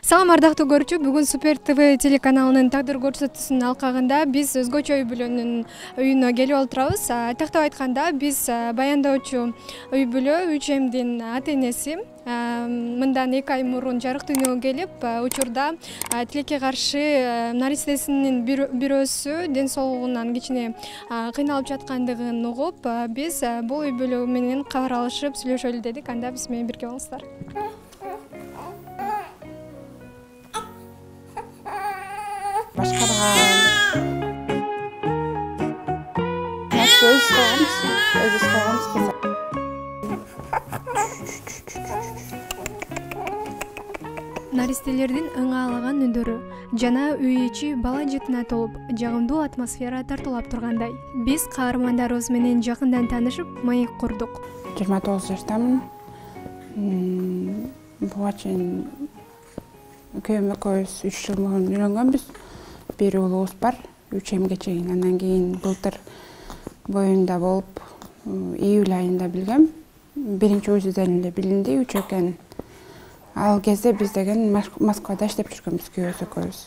Салам ардактуу көрүүчү, бүгүн Супер ТВ телеканалынын тагдыр көрсөтүүсүнүн алкагында биз өзгөчө үй бүлөнүн үйүнө келип отурабыз. Айтактап айтканда, биз баяндаочу үй бүлө Үчемдин ата-энеси мындан 2 ай мурун жарык дүйнөгө келип, учурда тилекке каршы наристесинин бирөөсү ден соолугунан кичине кыйналып жаткандыгын угуп, биз бул үй бүлө менен кабар алышып сүйлөшөлү дедик. Анда биз менен бирге болуңуздар. Наристелердин ыңаалаган үндөрү жана үй ичи бала жытына толуп, жагымдуу атмосфера тартуулап тургандай. Биз каармандарыбыз менен жакындан таанышып, маек курдук. 29 жаштамын. Буга чейин күйөөм экөөбүз 3 жыл мурун үйлөнгөнбүз. Бир уулубуз бар, Үчемге чейин. Андан кийин былтыр боюнда болуп, июль айында билгем. Биринчи УЗИден эле билинди үч экен. Ал кезде биз деген Москвада иштеп жүргөнбүз күйөөбүз экөөбүз.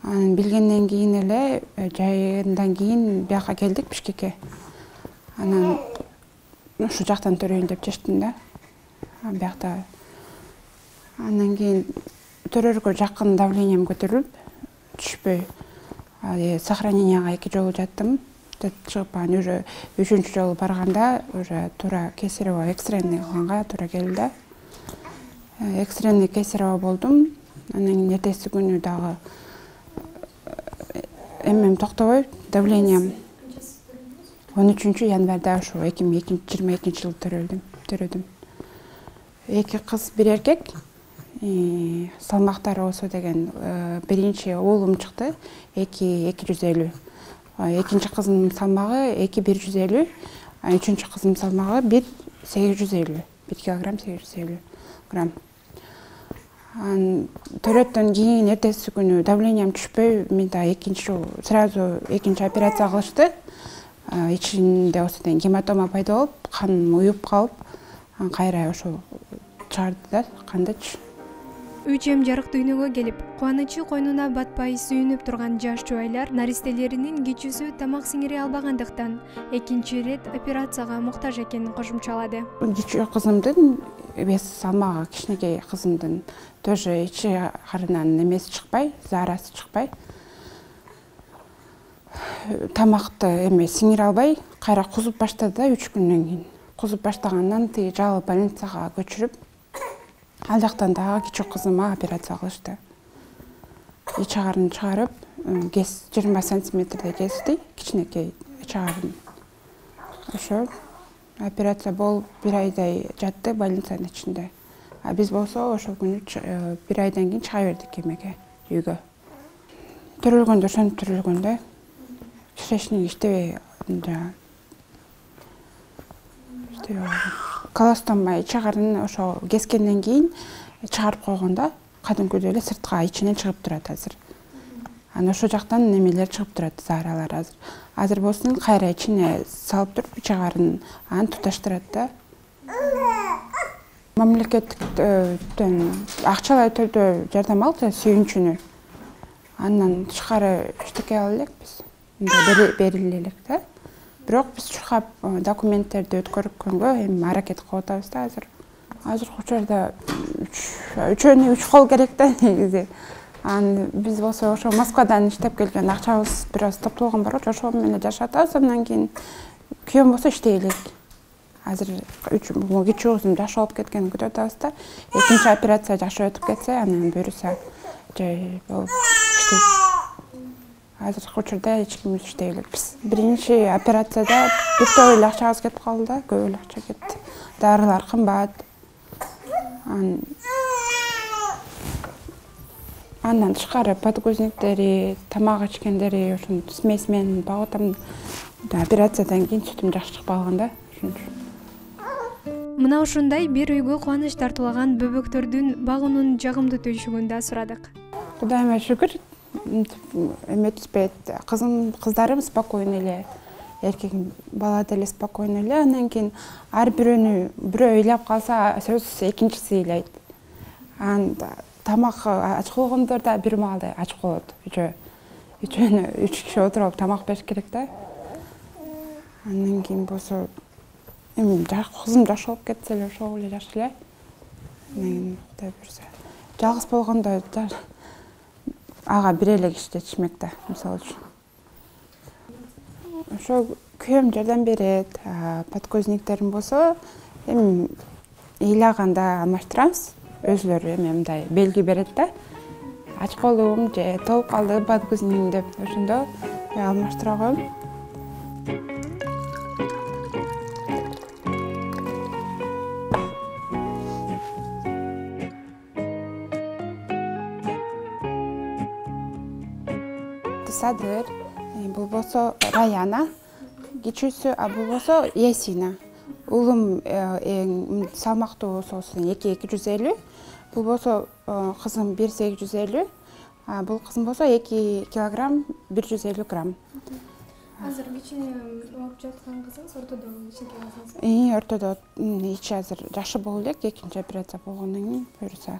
Анан билгенден кийин эле жайындан кийин бияка келдик Бишкекке. Анан ушу жактан төрөйүн деп чечтим да. Биякта андан кийин төрөргө жакын давлением көтөрүлүп, түшпөй. Сохраненияга 2 жолу жаттым. Чыгып, уже 3-чү жолу барганда уже туура кесарево экстренный кылганга туура келди. Экстренный кесарево болдум. Анан кийин эртеси күнү дагы эмем токтобой, давлением 13 январда ушу 2022 жылы төрөдүм. 2 кыз, 1 эркек. Салмактары болсо деген биринчи уулум чыкты 250. Экинчи кызымдын салмагы 150, үчүнчү кызымдын салмагы 850, 1 килограмм 850 грамм. Төрөттөн кийин эртеси күнү давлением түшпөй, мен да сразу экинчи операция кылышты. Ичинде болсо деген гематома пайда болуп, каным уюп калып, кайра ошо чыгарды да кандычы. Үчем жарык дүйнөгө келип, кубанычы койнуна батпай сүйүнүп турган жаш жубайлар наристелеринин кичүүсү тамак сиңире албагандыктан экинчи ирет операцияга муктаж экенин кошумчалады. Кичүү кызымдын вес салмагы, кичинекей кызымдын тоже ичи карынан эмеси чыкпай, заарасы чыкпай. Тамакты сиңире албай, кайра кузуп баштады да 3 күндөн кийин. Кузуп баштагандан тиги жалпы больницага көчүрүп, ал жактан дагы кичүү кызыма операция кылышты. Ичи карын чыгарып, 20 сантиметрдей кести, кичинекей ичи карын. Ошо операция болуп 1 айдай жатты больницанын ичинде. Биз болсо ошол күнү 1 айдан кийин чыга бердик эмеге, үйгө. Төрөлгөндө ошентип төрөлгөн да. Кишечник иштебей, колостома ичи карын ошо кескенден кийин чыгарып койгондо кадимкүдөй эле сыртка ичинен чыгып турат азыр. Анан ошол жактан немелер чыгып турат, зааралар азыр. Азыр болсун кайра ичине салып туруп ичи карын аны туташтырат да. Мамлекеттен акчалай түрдө жардам алдык, сүйүнчүнү. Андан тышкары эчтеке ала элек биз. Бериле элек да. Бирок биз чуркап документтерди өткөргөнгө эми аракет кылып атабыз да азыр. Азыркы учурда 3 кол керек да негизи. Биз болсо ошо Москвадан иштеп келген акчабыз бир аз топтолгон бар, ошол менен жашап атабыз. Андан кийин күйөөм болсо иштей элек. Азыр кичүү кызым жаш болуп кеткенин күтүп атабыз да. Экинчи операция жакшы өтүп кетсе, анан буюрса жай болуп иштейт. Азыркы учурда эч ким иштей элекпиз. Биринчи операцияда бир топ эле акчабыз кетип калды да, көп эле акча кетти. Дарылар кымбат. Андан тышкары подгузниктери, тамак ичкендери, ошон смесь менен багып атам. Операциядан кийин сүтүм жакшы чыкпай калган да, ошончу. Мына ушундай бир үйгө кубаныч тартуулаган бөбөктөрдүн багуунун жагымдуу түйшүгүн да сурадык. Кудайыма шүгүр, эметпейт. Кыздарым спокойно эле, эркегим бала деле спокойно эле. Андан кийин ар бирөө ыйлап калса, сөзсүз экинчиси ыйлайт. тамак ач болгондордо бир маалда ач болот. Үчөөнө 3 киши отуруп алып тамак бериш керек да. Андан кийин болсо эми кызым жаш болуп кетсе эле ошол эле жакшы эле. Мен Кудай буйрса. Жалгыз болгондо ага бир эле киши жетишмек да, мисалы үчүн. Ошо күйөөм жардам берет. Подкозниктерим болсо эми ыйлаганда алмаштырабыз. Өзүлөрү эми мындай белги берет да. Ач калдым же толуп калды подкозник деп ошондо алмаштыра коем. Садыр, бул болсо Раяна, кичүүсү, бул болсо Ясина. Улум эң салмактуу болсо 250, бул болсо кызым 1850, бул кызым болсо 2 килограмм 150 грамм. Азыр кичине ооруп жаткан кызыңыз ортодо кичинекей кызыңыз? Ортодо ичи азыр жакшы боло элек, экинчи операция болгондон кийин буюрса.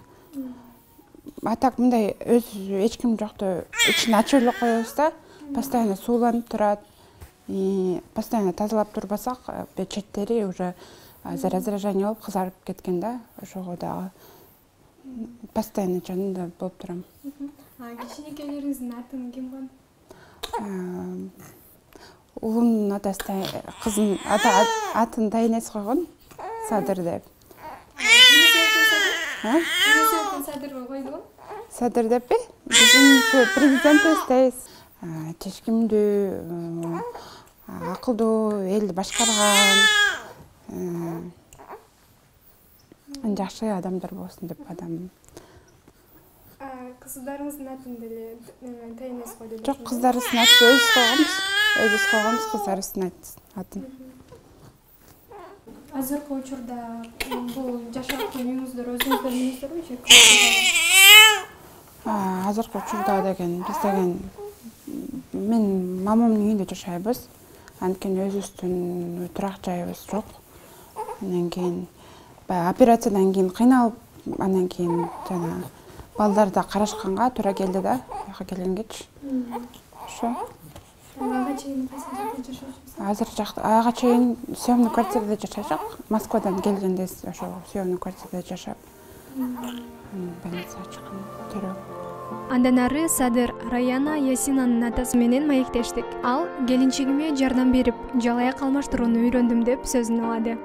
Так мындай эч ким жокто ичин ачып эле коебуз да, постоянно сууланып турат. Постоянно тазалап турбасак, четтери уже раздражение болуп кызарып кеткен да, ошого дагы постоянно жанында болуп турам. Кичинекейлериңиздин атын ким койгон? Улумдун атасы кызым атын Тайнес койгон, Садыр деп. Садырга койду? Садыр деппи? Биздин президентибиз дейбиз. Чечкимдүү, акылдуу, элди башкарган, жакшы адамдар болсун деп адам. Кыздарыңыздын атын деле Тайнес койду? Жок, кыздарыбыздын атын өзүбүз койгонбуз кыздарыбыздын атын. Азыркы учурда бул жашап үйүңүздөр өзүңүздөр үйүңүздөрбү же? Азыркы учурда деген биз деген мен мамамдын үйүндө жашайбыз. Анткени өзүбүздүн турак жайыбыз жок. Андан кийин операциядан кийин кыйналып, андан кийин жана балдарды карашканга туура келди да, буяка келгенгечи. Ошо. Ага чейин кайсы жерде жашачусуз? Азыр ага чейин съемный квартирада жашачак. Москвадан келгенде ошо съемный квартирада жашап, больницага чыккан төрө. Андан ары Садыр Раяна Ясинанын атасы менен маектештик. Ал келинчегиме жардам берип, жалаяк алмаштырууну үйрөндүм деп сөзүн алады.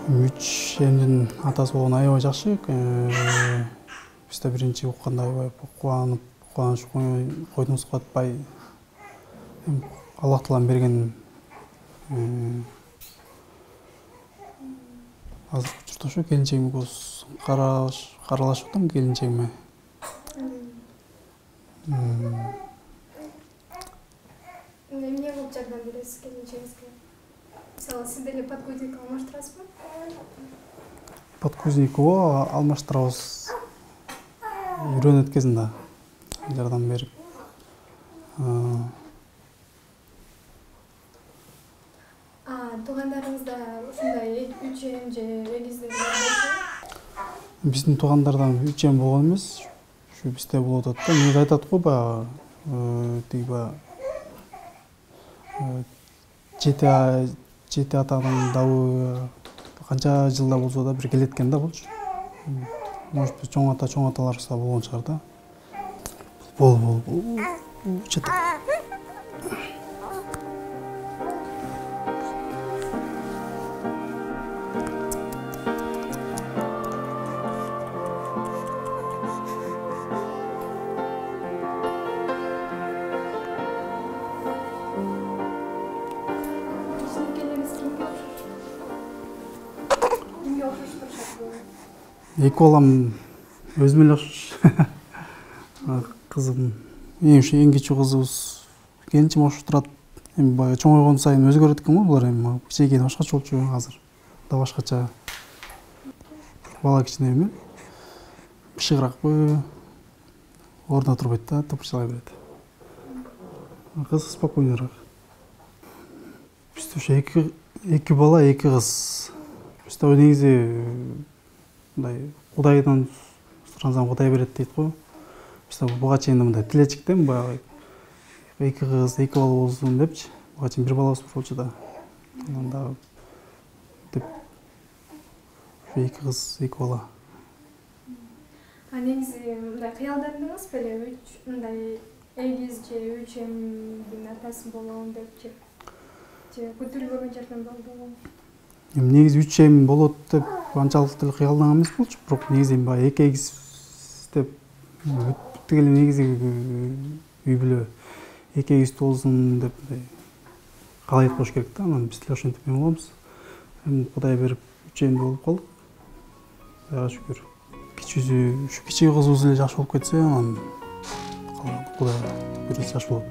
Үч эмдин атасы болгон аябай жакшы. Бизде биринчи укканда аябай кубанып, кубаныч койдуңузга атпай, Аллах Таалам берген азыркы учурда ошо келинчегиме көз каралашып атам келинчегиме. Эмне кылып жардам бересиз келинчегиңизге? Мисалы, сиз деле подкузник алмаштырасызбы? Подкузник алмаштырабыз. Үйрөнөт кезинде жардам берип. Туугандарыңызда ушундай 3 эм же эгиздер барбы? Биздин туугандардан 3 эм болгон эмес. Ушу бизде болуп атат да. Эмне айтат го баягы тиги жети атанын дабы канча жылда болсо да бир келет экен да булчу. Может быть, чоң аталарыбызда болгон чыгар да. Бол. Чета. Эки балам өзүмө эле окшош. Кызым, эң кичүү кызыбыз келинчим окшоп турат. Эми баягы чоңойгон сайын өзгөрөт экен го булар, эми кичинекейде башкача болчу, азыр да башкача. Бала кичине эми бышыгыракпы, ордуна турбайт да, тыпырчылай берет. Кыз спокойнураак. Бизде ошо эки бала, эки кыз. Бизде негизи мындай Кудайдан сурансам Кудай берет дейт го. Буга чейин мындай тилечиктем, баягы 2 кыз, 2 бала болсун депчи. Буга чейин 1 балабыз болчу да. Анан дагы деп 2 кыз, 2 бала. Негизи мындай кыялдандыңыз беле, мындай эгиз же 3 эмдин атасы болом депчи? Же күтүлбөгөн жерден болдубу? Негизи 3 эм болот деп анчалык деле кыялданган эмес болчу. Бирок негизи баягы 2 эгиз деп бүттүк эле негизи үй бүлө 2 эгиз болсун деп каалайт болуш керек да. Анан биз деле ошентип эме кылабыз. Эми Кудай берип 3 эмди болуп калдык. Кудайга шүгүр. Кичи кызыбыз эле жаш болуп кетсе, анан Кудайга буйрса жаш болот.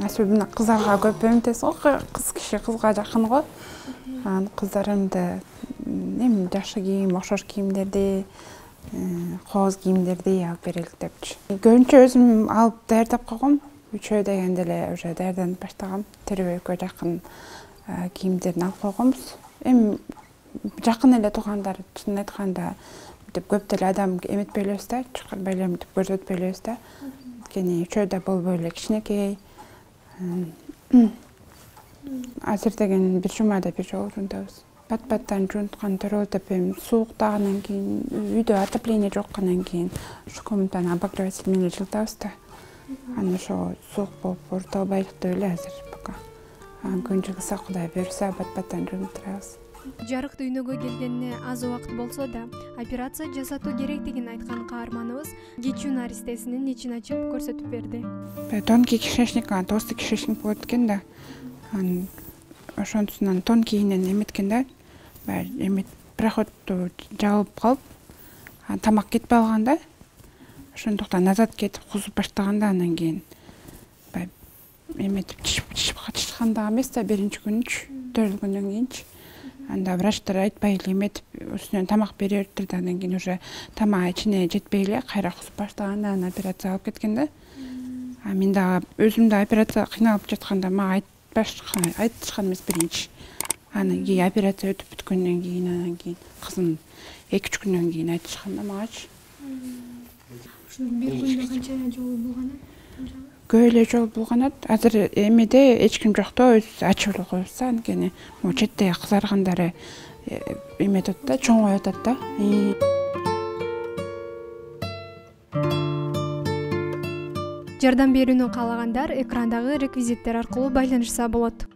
Особенно кыздарга көп эмтесиз го, кыз киши кызга жакын го. Анан кыздарымды эми жакшы кийим, окшош кийимдерди, кооз кийимдерди алып берелик депчи. Көбүнчө өзүм алып даярдап койгом. Үчөө дегенде эле уже даярданып баштагам. Төрөбөккө жакын кийимдерин алып койгонбуз. Эми жакын эле туугандар, чынын айтканда, деп көп деле адам эметпей элебиз да, чакырбай эле мынтип көрсөтпөй элебиз да. Анткени үчөө да болбой эле кичинекей. Азыр деген бир жумада бир жолу жуунтабыз. Бат-баттан жуунткан төрөлүп деп эми сууктагандан кийин, үйдө отопление жоккандан кийин ушу комнатаны обогреватель менен жылытабыз да. Анан ошо суук болуп оруталбайлык деп эле азыр пока. Күн жылыса Кудай буйрса бат-баттан жуунтурабыз. Жарык дүйнөгө келгенине аз убакыт болсо да, операция жасатуу керектигин айткан каарманыбыз кечүү наристесинин ичин ачып көрсөтүп берди. Тонкий кишечник, толстый кишечник болот экен да. Анан ошонусунан тонкийинен эметкен да. Эмет проходту жабылып калып, тамак кетпей калган да. Ошондуктан назад кетип кузуп баштаганда, анан кийин эметип чычкандагы эмес да, биринчи күнүчү төрөлгөндөн кийинчи. Анда врачтар айтпай эле эметип үстүнөн тамак бере бериптир да, андан кийин уже тамак ичине жетпей эле кайра кузуп баштаганда анан операция алып кеткен да. Мен дагы өзүм да операция кыйналып жатканда мага айтышкан эмес биринчи. Анан кийин операция өтүп бүткөндөн кийин, анан кийин кызым 2-3 күндөн кийин айтышкан да магачы. Бир күндө канча жолу булганат? Көп эле жол булганат. Азыр эмеде эч ким жок да, өзүбүз ачып эле коебуз да. Анткени могу четте кызаргандары эметет да, чоңоюп атат да. Жардам берүүнү каалагандар экрандагы реквизиттер аркылуу байланышса болот.